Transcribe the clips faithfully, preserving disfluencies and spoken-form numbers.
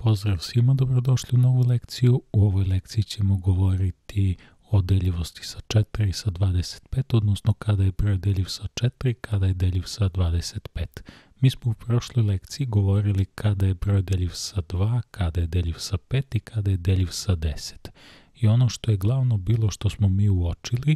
Pozdrav svima, dobrodošli u novu lekciju. U ovoj lekciji ćemo govoriti o deljivosti sa četiri i sa dvadeset pet, odnosno kada je broj deljiv sa četiri, kada je deljiv sa dvadeset pet. Mi smo u prošloj lekciji govorili kada je broj deljiv sa dva, kada je deljiv sa pet i kada je deljiv sa deset. I ono što je glavno bilo što smo mi uočili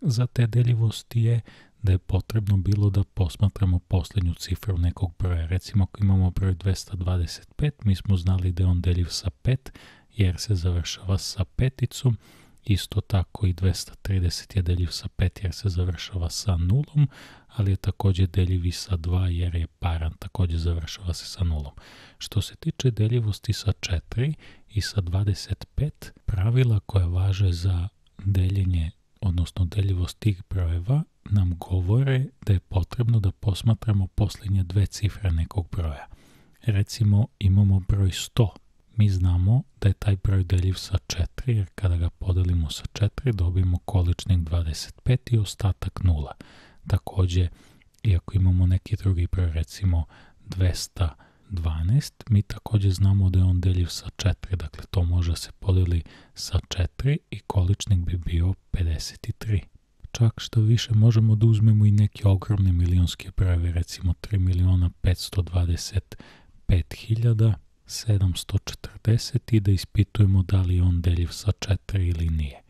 za te deljivosti je da je potrebno bilo da posmatramo posljednju cifru nekog broja. Recimo ako imamo broj dvesta dvadeset pet, mi smo znali da je on deljiv sa pet jer se završava sa peticom. Isto tako i dvesta trideset je deljiv sa pet jer se završava sa nulom, ali je također deljiv i sa dva jer je paran, također završava se sa nulom. Što se tiče deljivosti sa četiri i sa dvadeset pet, pravila koja važe za deljenje, odnosno deljivost tih brojeva, nam govore da je potrebno da posmatramo posljednje dve cifre nekog broja. Recimo imamo broj sto. Mi znamo da je taj broj deljiv sa četiri, jer kada ga podelimo sa četiri dobijemo količnik dvadeset pet i ostatak nula. Također, iako imamo neki drugi broj, recimo dvesta dvanaest, mi također znamo da je on deljiv sa četiri, dakle to može se podeli sa četiri i količnik bi bio pedeset tri. Čak što više možemo da uzmemo i neke ogromne milionske brojeve, recimo tri miliona petsto dvadeset pet hiljada sedamsto četrdeset i da ispitujemo da li je on deljiv sa četiri ili nije.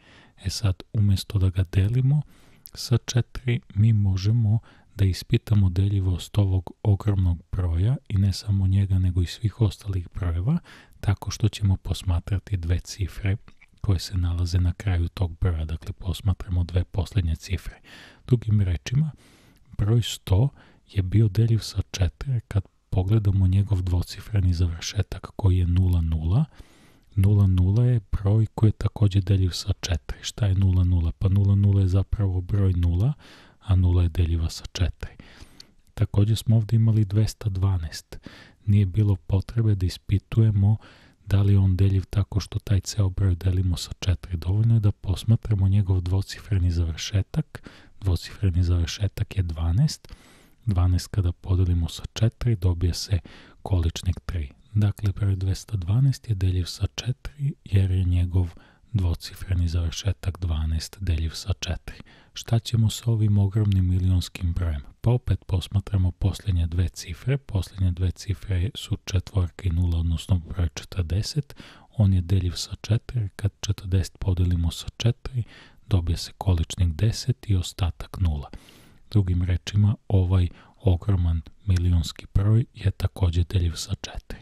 E sad, umjesto da ga delimo sa četiri, mi možemo da ispitamo deljivost ovog ogromnog broja i ne samo njega nego i svih ostalih brojeva, tako što ćemo posmatrati dve cifre koje se nalaze na kraju tog broja, dakle posmatramo dve posljednje cifre. Drugim rečima, broj sto je bio deljiv sa četiri kad pogledamo njegov dvocifreni završetak koji je nula nula. nula nula je broj koji je također deljiv sa četiri. Šta je nula nula? Pa nula nula je zapravo broj nula, a nula je deljiva sa četiri. Također smo ovdje imali dvesta dvanaest. Nije bilo potrebe da ispitujemo da li je on deljiv tako što taj ceo broj delimo sa četiri. Dovoljno je da posmatramo njegov dvocifreni završetak. Dvocifreni završetak je dvanaest. dvanaest kada podelimo sa četiri dobije se količnik tri. Dakle, broj dvesta dvanaest je deljiv sa četiri jer je njegov dvocifreni završetak dvanaest deljiv sa četiri. Šta ćemo sa ovim ogromnim milionskim brojem? Pa opet posmatramo posljednje dve cifre. Posljednje dve cifre su četvorka i nula, odnosno broj četrdeset. On je deljiv sa četiri. Kad četrdeset podelimo sa četiri, dobije se količnik deset i ostatak nula. Drugim rečima, ovaj ogroman milionski broj je također deljiv sa četiri.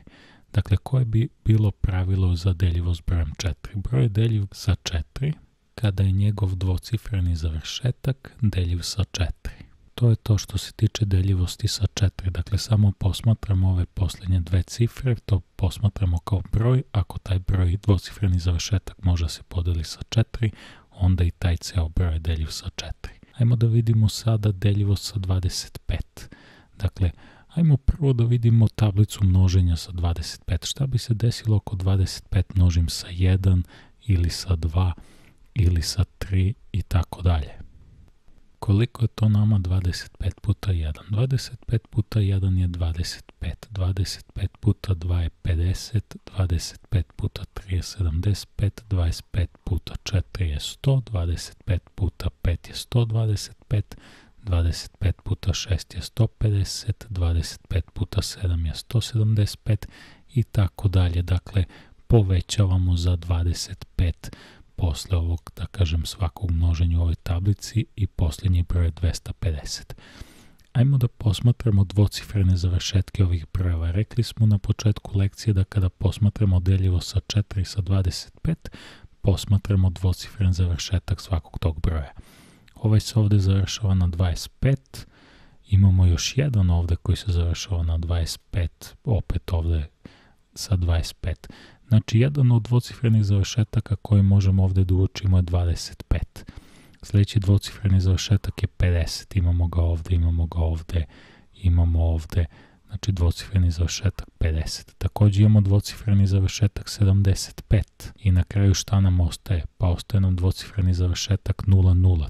Dakle, koje bi bilo pravilo za deljivost brojem četiri? Broj je deljiv sa četiri kada je njegov dvocifreni završetak deljiv sa četiri. To je to što se tiče deljivosti sa četiri. Dakle, samo posmatramo ove posljednje dve cifre, to posmatramo kao broj. Ako taj broj dvocifreni završetak može se podeli sa četiri, onda i taj ceo broj je deljiv sa četiri. Ajmo da vidimo sada deljivost sa dvadeset pet. Dakle, ajmo prvo da vidimo tablicu množenja sa dvadeset pet. Šta bi se desilo ako dvadeset pet množim sa jedan ili sa dva ili sa tri i tako dalje. Koliko je to nama dvadeset pet puta jedan? dvadeset pet puta jedan je dvadeset pet. dvadeset pet puta dva je pedeset. dvadeset pet puta tri je sedamdeset pet. dvadeset pet puta četiri je sto. dvadeset pet puta pet je sto dvadeset pet. dvadeset pet puta šest je sto pedeset. dvadeset pet puta sedam je sto sedamdeset pet i tako dalje. Dakle, povećavamo za dvadeset pet posle ovog, da kažem, svakog množenja u ovoj tablici i posljednji broj je dvesta pedeset. Ajmo da posmatramo dvocifrene završetke ovih brojeva. Rekli smo na početku lekcije da kada posmatramo deljivo sa četiri i sa dvadeset pet, posmatramo dvocifren završetak svakog tog broja. Ovaj se ovdje završava na dvadeset pet, imamo još jedan ovdje koji se završava na dvadeset pet, opet ovdje sa dvadeset pet. Znači, jedan od dvocifrenih završetaka koji možemo ovdje da uočimo je dvadeset pet. Sljedeći dvocifreni završetak je pedeset, imamo ga ovdje, imamo ga ovdje, imamo ovdje, znači dvocifreni završetak pedeset. Također imamo dvocifreni završetak sedamdeset pet i na kraju šta nam ostaje? Pa ostaje nam dvocifreni završetak nula nula.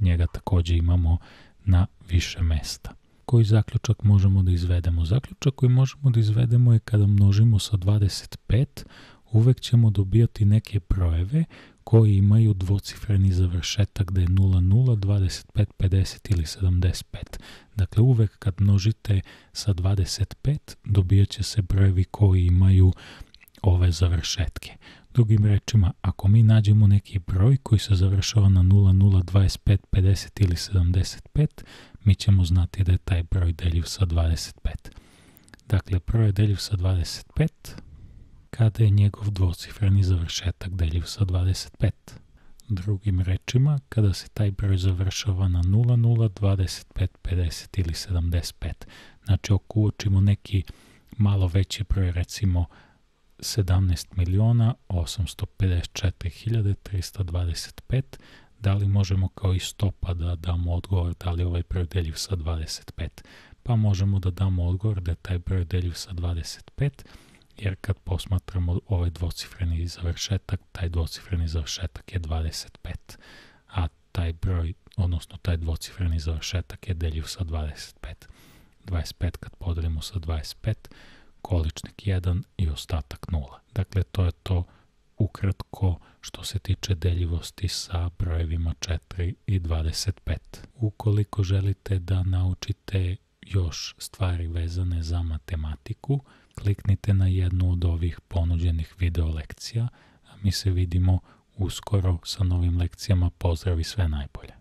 Njega također imamo na više mesta. koji zaključak možemo da izvedemo? Zaključak koji možemo da izvedemo je kada množimo sa dvadeset pet, uvek ćemo dobijati neke brojeve koji imaju dvocifreni završetak, da je nula nula, dvadeset pet, pedeset ili sedamdeset pet. Dakle, uvek kad množite sa dvadeset pet, dobijat će se brojevi koji imaju ove završetke. Drugim rečima, ako mi nađemo neki broj koji se završava na nula nula, dvadeset pet, pedeset ili sedamdeset pet, mi ćemo znati da je taj broj deljiv sa dvadeset pet. Dakle, broj je deljiv sa dvadeset pet kada je njegov dvocifreni završetak deljiv sa dvadeset pet. Drugim rečima, kada se taj broj završava na nula nula, dvadeset pet, pedeset ili sedamdeset pet. Znači, ako uočimo neki malo veći broj, recimo sedamnaest miliona osamsto pedeset četiri hiljade trista dvadeset pet, da li možemo kao i stopa da damo odgovor da li je ovaj broj deljiv sa dvadeset pet? Pa možemo da damo odgovor da je taj broj deljiv sa dvadeset pet, jer kad posmatramo ovaj dvocifreni završetak, taj dvocifreni završetak je dvadeset pet, a taj broj, odnosno taj dvocifreni završetak je deljiv sa dvadeset pet. dvadeset pet kad podelimo sa dvadeset pet, količnik jedan i ostatak nula. Dakle, to je to ukratko što se tiče deljivosti sa brojevima četiri i dvadeset pet. Ukoliko želite da naučite još stvari vezane za matematiku, kliknite na jednu od ovih ponuđenih video lekcija, a mi se vidimo uskoro sa novim lekcijama. Pozdrav i sve najbolje!